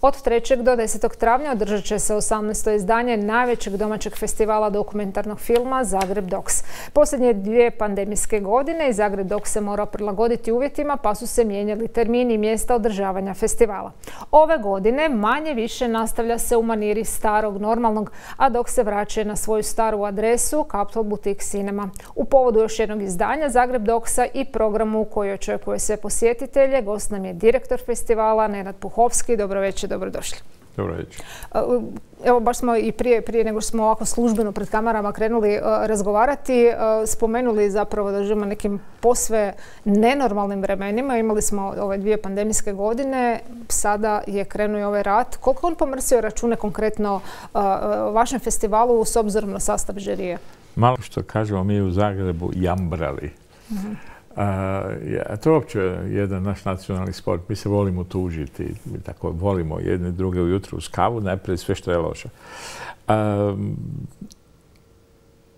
Od 3. do 10. travnja održat će se 18. izdanje najvećeg domaćeg festivala dokumentarnog filma Zagreb Docs. Posljednje 2 pandemijske godine i Zagreb Docs se morao prilagoditi uvjetima pa su se mijenjali termini i mjesta održavanja festivala. Ove godine manje više nastavlja se u maniri starog normalnog, a Docs se vraća na svoju staru adresu Capital Boutique Cinema. U povodu još jednog izdanja Zagreb Docsa i programu koji očekuje sve posjetitelje, gost nam je direktor festivala Nenad Puhovski. Dobro večer, dobrodošli. Dobro večer. Evo, baš smo i prije nego smo ovako službeno pred kamerama krenuli razgovarati, spomenuli zapravo da živimo nekim posve nenormalnim vremenima. Imali smo ove 2 pandemijske godine, sada je krenuo i ovaj rat. Koliko on pomrsio račune konkretno vašem festivalu s obzirom na sastav žirije? Malo što kažemo mi u Zagrebu jambrali. To je uopće jedan naš nacionalni sport. Mi se volimo tužiti. Mi tako volimo jedne druge ujutro uz kavu, najprije sve što je loše.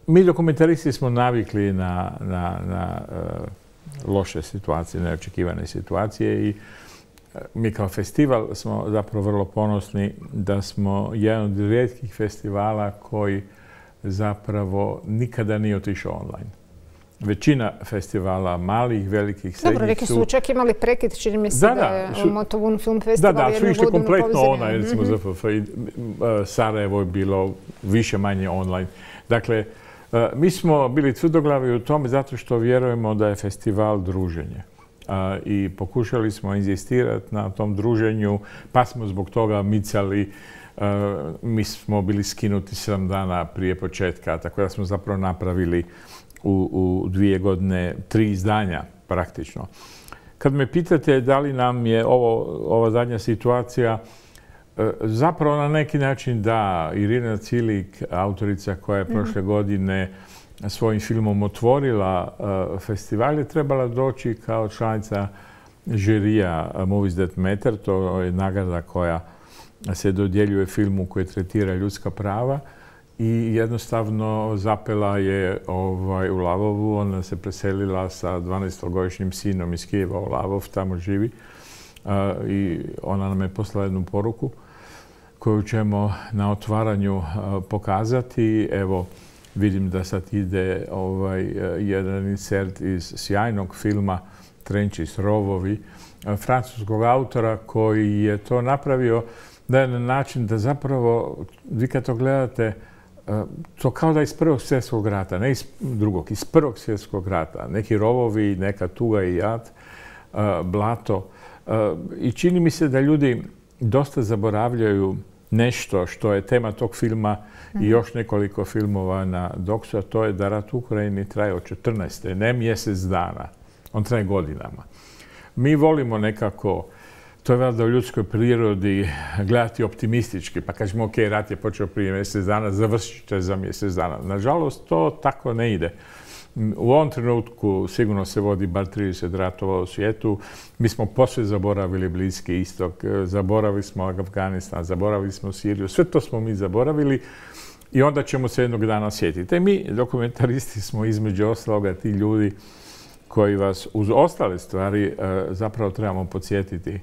Mi dokumentaristi smo navikli na loše situacije, neočekivane situacije i mi kao festival smo zapravo vrlo ponosni da smo jedan od rijetkih festivala koji zapravo nikada nije otišao online. Većina festivala, malih, velikih, srednjih su... Dobro, neki su čak imali prekid, čini mi se da je Motovun film festival jednu godinu su išli kompletno online, recimo ZFF i Sarajevo je bilo više manje online. Dakle, mi smo bili tvrdoglavi u tome zato što vjerujemo da je festival druženje. I pokušali smo inzistirati na tom druženju, pa smo zbog toga micali. Mi smo bili skinuti 7 dana prije početka, tako da smo zapravo napravili u 2 godine 3 izdanja praktično. Kad me pitate da li nam je ova zadnja situacija, zapravo na neki način da. Irina Cilik, autorica koja je prošle godine svojim filmom otvorila festival, je trebala doći kao članica žirija Movies That Matter. To je nagrada koja se dodjeljuje filmu koji tretira ljudska prava. I jednostavno zapela je u Lavovu. Ona se preselila sa 12-godišnjim sinom iz Kijeva u Lavov, tamo živi. I ona nam je poslala jednu poruku koju ćemo na otvaranju pokazati. Evo, vidim da sad ide jedan insert iz sjajnog filma Trenčis rovovi, francuskog autora koji je to napravio na jedan način da zapravo, vi kad to gledate, to kao da iz Prvog svjetskog rata, ne iz drugog, iz Prvog svjetskog rata. Neki rovovi, neka tuga i jad, blato. I čini mi se da ljudi dosta zaboravljaju nešto što je tema tog filma i još nekoliko filmova na Docsu, a to je da rat u Ukrajini traje od 14. ne mjesec dana. On traje godinama. Mi volimo nekako, to je valjda u ljudskoj prirodi, gledati optimistički, pa kažemo ok, rat je počeo prije mjesec dana, završit će za mjesec dana. Nažalost, to tako ne ide. U ovom trenutku sigurno se vodi bar 30 ratova u svijetu. Mi smo posve zaboravili Bliski istok, zaboravili smo Afganistan, zaboravili smo Siriju. Sve to smo mi zaboravili i onda ćemo se jednog dana sjetiti. Mi, dokumentaristi, smo između ostaloga ti ljudi koji vas uz ostale stvari zapravo trebamo podsjetiti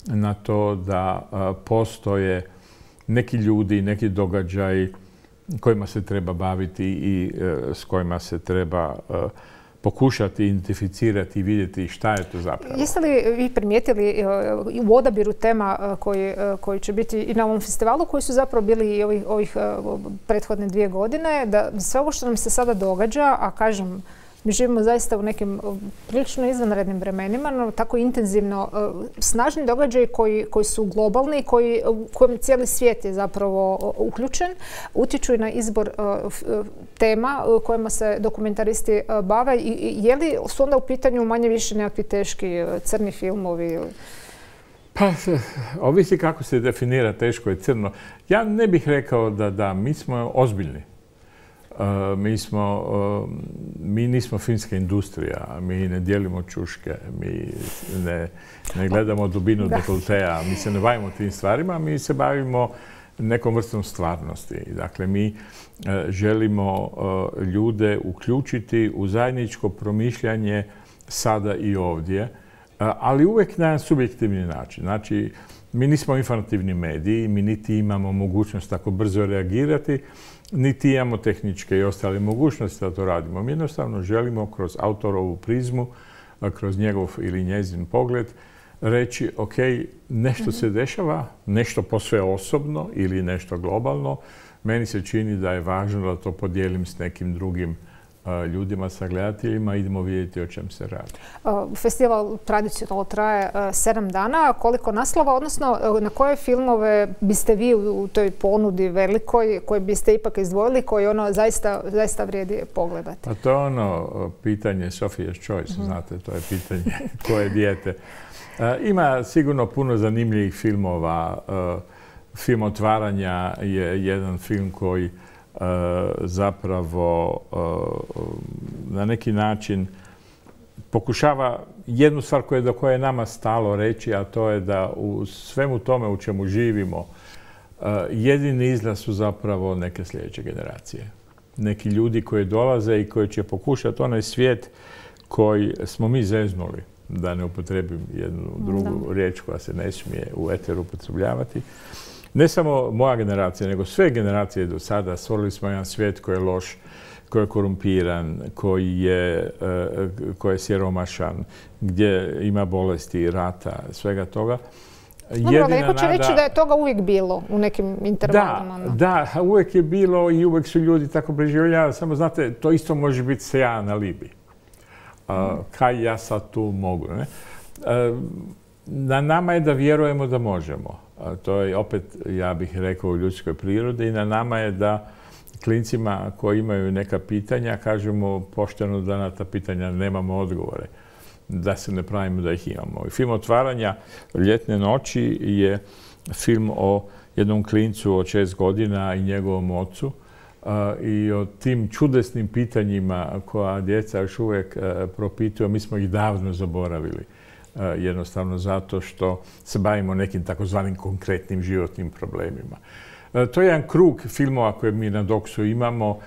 na to da postoje neki ljudi, neki događaji kojima se treba baviti i s kojima se treba pokušati identificirati i vidjeti šta je to zapravo. Jeste li vi primijetili u odabiru tema koji će biti i na ovom festivalu, koji su zapravo bili i ovih prethodne 2 godine, da sve ovo što nam se sada događa, a kažem, mi živimo zaista u nekim prilično izvanrednim vremenima, no tako intenzivno snažni događaji koji su globalni, u kojem cijeli svijet je zapravo uključen, utječu i na izbor tema kojima se dokumentaristi bave. Je li su onda u pitanju manje više nekakvi teški crni filmovi? Pa, ovisi kako se definira teško i crno. Ja ne bih rekao da mi smo ozbiljni. Mi nismo filmska industrija, mi ne dijelimo čuške, mi ne gledamo dubinu dekoltea, mi se ne bavimo tim stvarima, mi se bavimo nekom vrstom stvarnosti. Dakle, mi želimo ljude uključiti u zajedničko promišljanje sada i ovdje ali uvijek na jedan subjektivni način. Znači, mi nismo informativni mediji, mi niti imamo mogućnost tako brzo reagirati, niti imamo tehničke i ostale mogućnosti da to radimo. Mi jednostavno želimo kroz autorovu prizmu, kroz njegov ili njezin pogled, reći, ok, nešto se dešava, nešto posve osobno ili nešto globalno. Meni se čini da je važno da to podijelim s nekim drugim ljudima, sa gledateljima, idemo vidjeti o čem se radi. Festival tradicionalno traje 7 dana. Koliko naslova, odnosno na koje filmove biste vi u toj ponudi velikoj, koje biste ipak izdvojili, koji zaista vrijedi pogledati? Pa to je pitanje Sophia's Choice, znate, to je pitanje koje dijete. Ima sigurno puno zanimljivih filmova. Film Otvaranja je jedan film koji zapravo na neki način pokušava jednu stvar do koje je nama stalo reći, a to je da u svemu tome u čemu živimo jedini izlaz su zapravo neke sljedeće generacije. Neki ljudi koji dolaze i koji će pokušati onaj svijet koji smo mi zeznuli, da ne upotrebim jednu drugu riječ koja se ne smije u eteru upotrebljavati. Ne samo moja generacija, nego sve generacije do sada stvorili smo jedan svijet koji je loš, koji je korumpiran, koji je siromašan, gdje ima bolesti, rata, svega toga. Dobro, neko će reći da je toga uvijek bilo u nekim intervalima. Da, uvijek je bilo i uvijek su ljudi tako preživljavali. Samo znate, to isto može biti sejan alibi. Kaj ja sad tu mogu, ne? Na nama je da vjerujemo da možemo. To je opet, ja bih rekao, u ljudskoj prirodi i na nama je da klincima koji imaju neka pitanja kažemo pošteno da na ta pitanja nemamo odgovore. Da se ne pravimo da ih imamo. Film Otvaranja Ljetne noći je film o jednom klincu od 6 godina i njegovom ocu i o tim čudesnim pitanjima koja djeca još uvijek propituju. Mi smo ih davno zaboravili. Jednostavno zato što se bavimo nekim takozvanim konkretnim životnim problemima. To je jedan krug filmova koje mi na Doksu imamo,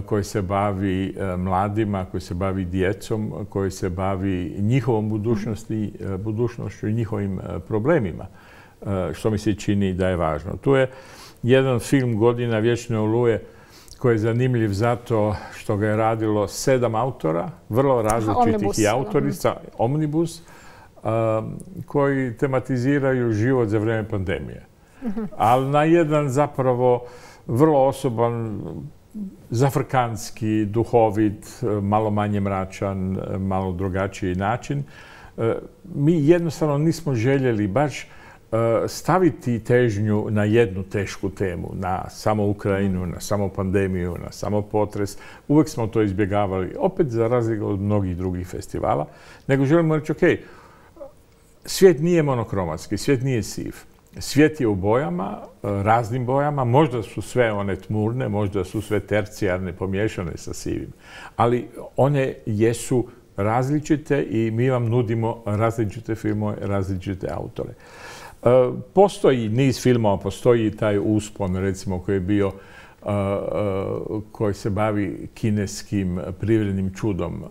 koji se bavi mladima, koji se bavi djecom, koji se bavi njihovom budućnošću i njihovim problemima, što mi se čini da je važno. Tu je jedan film Godina vječne oluje koji je zanimljiv zato što ga je radilo 7 autora, vrlo različitih i autorica, Omnibus, koji tematiziraju život za vrijeme pandemije. Ali na jedan zapravo vrlo osoban, zafrkanski, duhovit, malo manje mračan, malo drugačiji način. Mi jednostavno nismo željeli baš staviti težnju na jednu tešku temu, na samo Ukrajinu, na samo pandemiju, na samo potres. Uvijek smo to izbjegavali, opet za razliku od mnogih drugih festivala, nego želimo reći, ok, svijet nije monokromatski, svijet nije siv. Svijet je u bojama, raznim bojama, možda su sve one tmurne, možda su sve tercijarne, pomiješane sa sivim, ali one jesu različite i mi vam nudimo različite filmove, različite autore. Postoji niz filmova, postoji taj Uspon, recimo, koji je bio, koji se bavi kineskim privrednim čudom,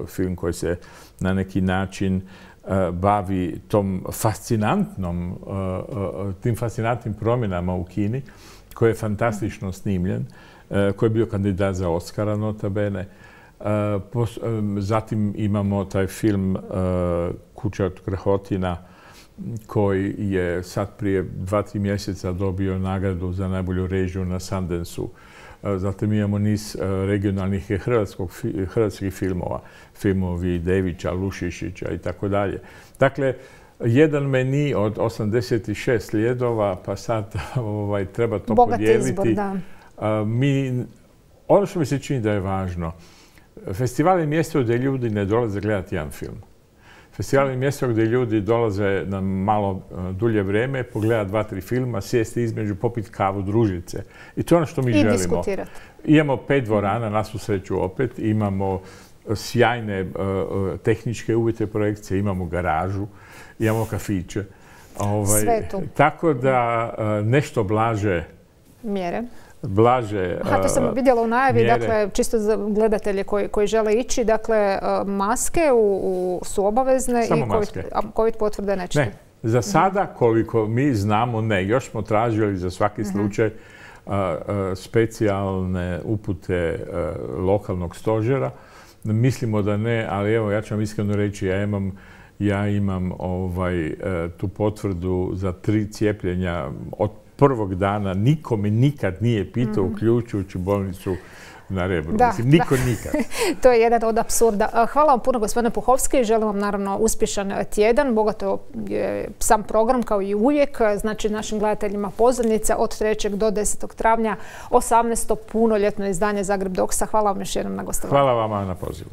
film koji se na neki način bavi tim fascinantnim promjenama u Kini, koji je fantastično snimljen, koji je bio kandidat za Oscara, nota bene. Zatim imamo taj film Kuća od Krhotina, koji je sad prije 2-3 mjeseca dobio nagradu za najbolju režiju na Sundance-u. Zatim imamo niz regionalnih hrvatskih filmova, filmovi Devića, Lušišića i tako dalje. Dakle, jedan meni od 86 slijedova, pa sad treba to podijeliti. Bogat izbor, da. Ono što mi se čini da je važno, festival je mjesto gdje ljudi ne dolaze gledati jedan film. Festival je mjesto gdje ljudi dolaze na malo dulje vrijeme, pogledati 2-3 filma, sjesti između, popiti kavu, družiti se. I to je ono što mi želimo. I diskutirati. Imamo 5 dvorana, na svu sreću opet, imamo sjajne tehničke uvjete projekcije, imamo garažu, imamo kafiće. Sve tu. Tako da nešto blaže mjere. blaže to sam vidjela u najavi, mjere. dakle, čisto za gledatelje koji žele ići, dakle, maske su obavezne Samo i maske. COVID potvrde nećete. Ne, za sada koliko mi znamo ne. Još smo tražili za svaki slučaj specijalne upute lokalnog stožera. Mislimo da ne, ali evo ja ću vam iskreno reći, ja imam tu potvrdu za 3 cijepljenja od prvog dana. Niko me nikad nije pitao, uključujući bolnicu na Rebru. Niko nikad. To je jedan od apsurda. Hvala vam puno, gospodine Puhovski. Želim vam naravno uspješan tjedan. Bogato je sam program kao i uvijek. Znači našim gledateljima pozornica od 3. do 10. travnja 18. punoljetno izdanje Zagreb Doksa. Hvala vam još jednom na gostovanju. Hvala vama na pozivu.